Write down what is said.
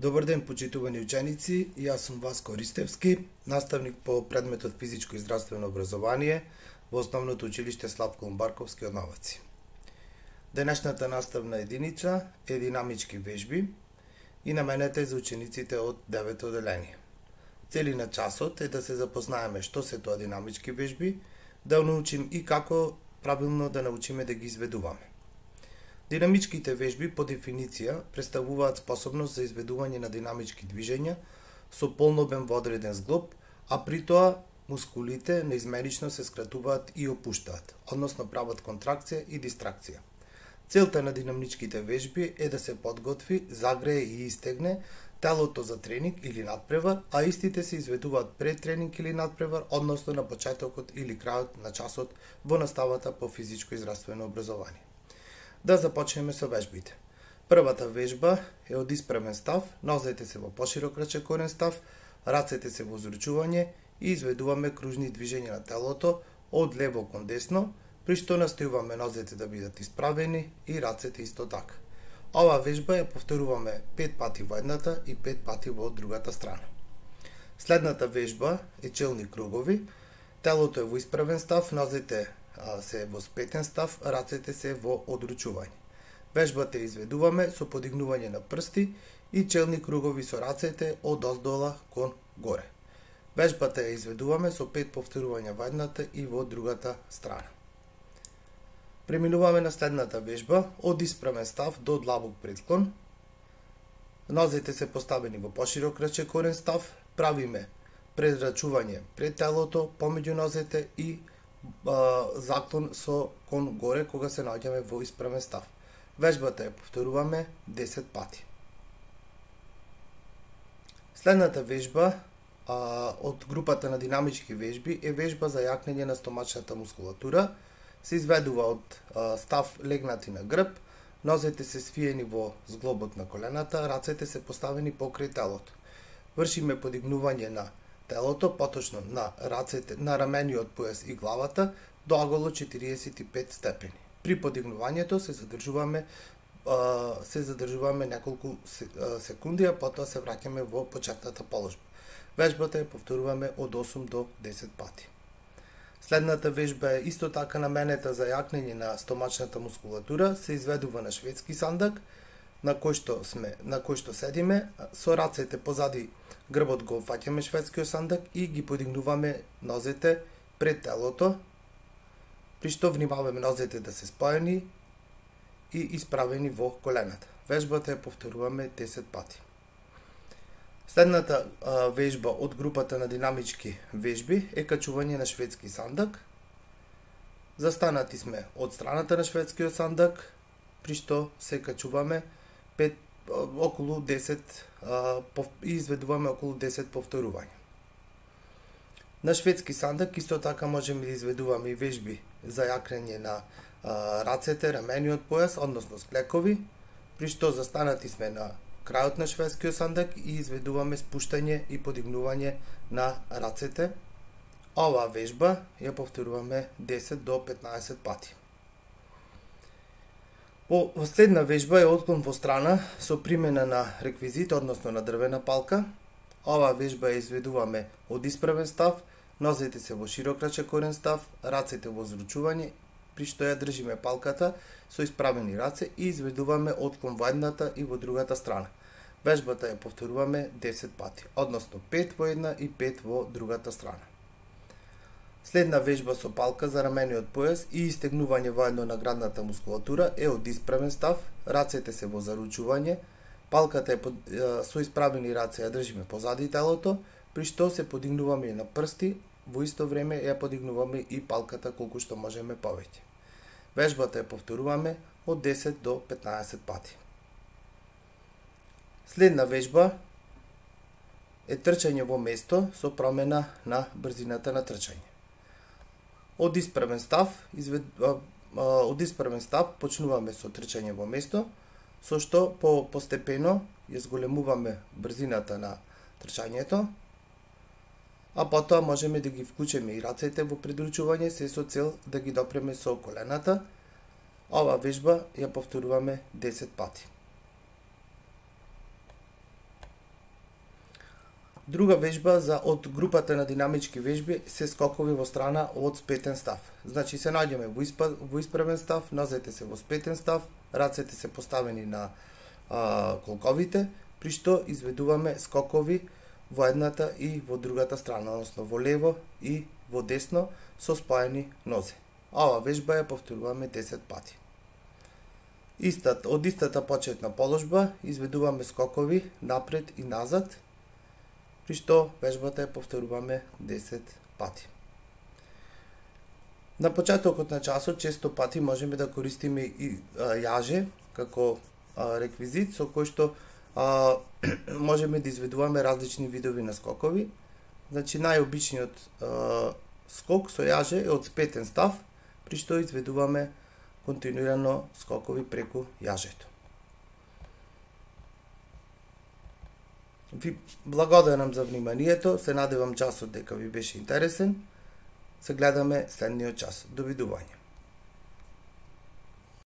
Добар ден, почитувани ученици, јас сум Васко Ристевски, наставник по предметот физичко и здравствено образование во Основното училиште Славко Умбарковски од Новаци. Денешната наставна единица е динамички вежби и наменета е за учениците од 9 оделение. Цели на часот е да се запознаеме што се тоа динамички вежби, да научим и како правилно да научиме да ги изведуваме. Динамичките вежби по дефиниција представуваат способност за изведување на динамички движења со полнобем водреден зглоб, а при тоа мускулите неизменично се скратуваат и опуштаат, односно прават контракција и дистракција. Целта на динамичките вежби е да се подготви, загрее и истегне телото за тренинг или надпревар, а истите се изведуваат пред тренинг или надпревар, односно на почетокот или крајот на часот во наставата по физичко и здравствено образование. Да започнеме со вежбите. Првата вежба е од испремен став, нозете се во поширок рачекорен став, рацете се во зручување и изведуваме кружни движења на телото од лево кон десно, при што настојуваме нозете да бидат исправени и рацете исто така. Ова вежба ја повторуваме 5 пати во едната и 5 пати во другата страна. Следната вежба е челни кругови. Телото е во исправен став, нозете се во спетен став, рацете се во одручување. Вежбата изведуваме со подигнување на прсти и челни кругови со рацете од оздола кон горе. Вежбата ја изведуваме со 5 повторувања во едната и во другата страна. Преминуваме на следната вежба од испрамен став до длабок предклон. Нозете се поставени во поширок рачекорен став, правиме предрачување пред телото, помеѓу нозете и заклон со кон горе кога се наоѓаме во испрамен став. Вежбата ја повторуваме 10 пати. Следната вежба од групата на динамички вежби е вежба за јакнење на стомачната мускулатура. Се изведува од став легнати на грб, нозете се свиени во зглобот на колената, рацете се поставени покрај телото. Вршиме подигнување на телото, поточно на рацете, на рамениот појас и главата до аголо 45 степени. При подигнувањето се задржуваме неколку секунди, а потоа се враќаме во почетната положба. Вежбата ја повторуваме од 8 до 10 пати. Следната вежба е исто така наменета за јакнење на стомачната мускулатура, се изведува на шведски сандак, на кој што седиме, со рацете позади грбот го фаќаме шведскиот сандак и ги подигнуваме нозете пред телото, при што внимаваме нозете да се споени и исправени во колената. Вежбата ја повторуваме 10 пати. Следната вежба од групата на динамички вежби е качување на шведски сандак. Застанати сме од страната на шведскиот сандак, при што се качуваме околу 10 и изведуваме околу 10 повторувања. На шведски сандак исто така можеме да изведуваме и вежби за јакнење на рацете, рамениот појас, односно склекови, при што застанати сме на крајот на шведскиот сандак и изведуваме спуштање и подигнување на рацете. Оваа вежба ја повторуваме 10 до 15 пати. Последна вежба е отклон во страна со примена на реквизит, односно на дрвена палка. Оваа вежба ја изведуваме од исправен став, нозете се во широк рачекорен став, рацете во зручување, при што ја држиме палката со исправени раце и изведуваме отклон во едната и во другата страна. Вежбата ја повторуваме 10 пати, односно 5 во една и 5 во другата страна. Следна вежба со палка за рамениот појас и истегнување воедно на градната мускулатура е од исправен став, рацете се во заручување, палката е со исправени раце ја држиме позади телото, при што се подигнуваме на прсти, во исто време ја подигнуваме и палката колку што можеме повеќе. Вежбата ја повторуваме од 10 до 15 пати. Следна вежба е трчање во место со промена на брзината на трчање. Од исправен став почнуваме со трчање во место, со што постепено ја зголемуваме брзината на трчањето, а потоа можеме да ги вклучиме и рацете во придручување, се со цел да ги допреме со колената. Ова вежба ја повторуваме 10 пати. Друга вежба од групата на динамички вежби се скокови во страна од спетен став. Значи се наѓаме во исправен став, нозете се во спетен став, рацете се поставени на колковите, при што изведуваме скокови во едната и во другата страна, односно во лево и во десно со спаени нозе. Ова вежба ја повторуваме 10 пати. Од истата почетна положба изведуваме скокови напред и назад, при што вежбата ја повторуваме 10 пати. На почетокот на часот често пати можеме да користиме и јаже како реквизит со кој што можеме да изведуваме различни видови на скокови. Значи најобичниот скок со јаже е од спетен став, при што изведуваме континуирано скокови преку јажето. Ви благодарам за вниманието, се надевам часот дека ви беше интересен. Се гледаме следниот час. Довидување.